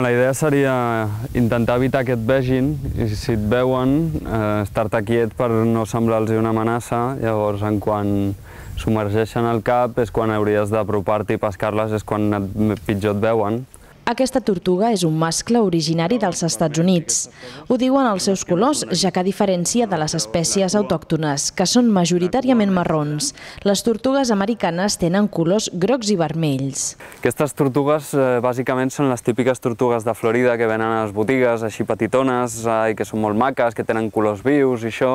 La idea seria intentar evitar que et vegin i si et veuen, estar-te quiet per no semblar-los una amenaça. Llavors, quan submergeixen el cap és quan hauries d'apropar-te i pescar-les, és quan pitjor et veuen. Aquesta tortuga és un mascle originari dels Estats Units. Ho diuen els seus colors, ja que a diferència de les espècies autòctones, que són majoritàriament marrons, les tortugues americanes tenen colors grocs i vermells. Aquestes tortugues bàsicament són les típiques tortugues de Florida que venen a les botigues, així petitones, i que són molt maques, que tenen colors vius i això,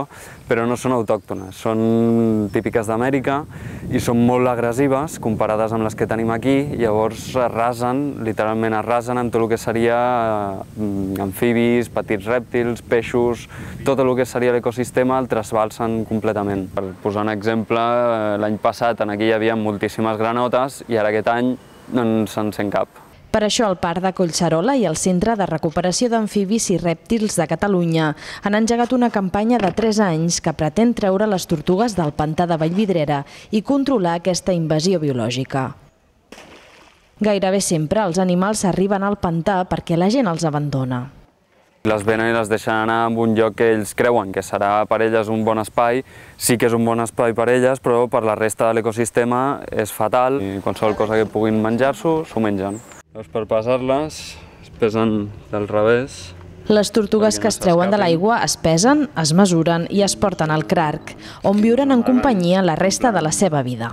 però no són autòctones. Són típiques d'Amèrica i són molt agressives comparades amb les que tenim aquí, llavors arrasen, literalment arrasen amb tot el que seria amfibis, petits rèptils, peixos, tot el que seria l'ecosistema el trasbalsen completament. Per posar un exemple, l'any passat aquí hi havia moltíssimes granotes i ara aquest any no se'n sent cap. Per això el Parc de Collserola i el Centre de Recuperació d'Amfibis i Rèptils de Catalunya han engegat una campanya de 3 anys que pretén treure les tortugues del pantà de Vallvidrera i controlar aquesta invasió biològica. Gairebé sempre els animals arriben al pantà perquè la gent els abandona. Les venen i les deixen anar a un lloc que ells creuen que serà per elles un bon espai. Sí que és un bon espai per elles, però per la resta de l'ecosistema és fatal. I qualsevol cosa que puguin menjar-s'ho, s'ho mengen. Per pesar-les, es pesen del revés. Les tortugues que es treuen de l'aigua es pesen, es mesuren i es porten al crac, on viuran en companyia la resta de la seva vida.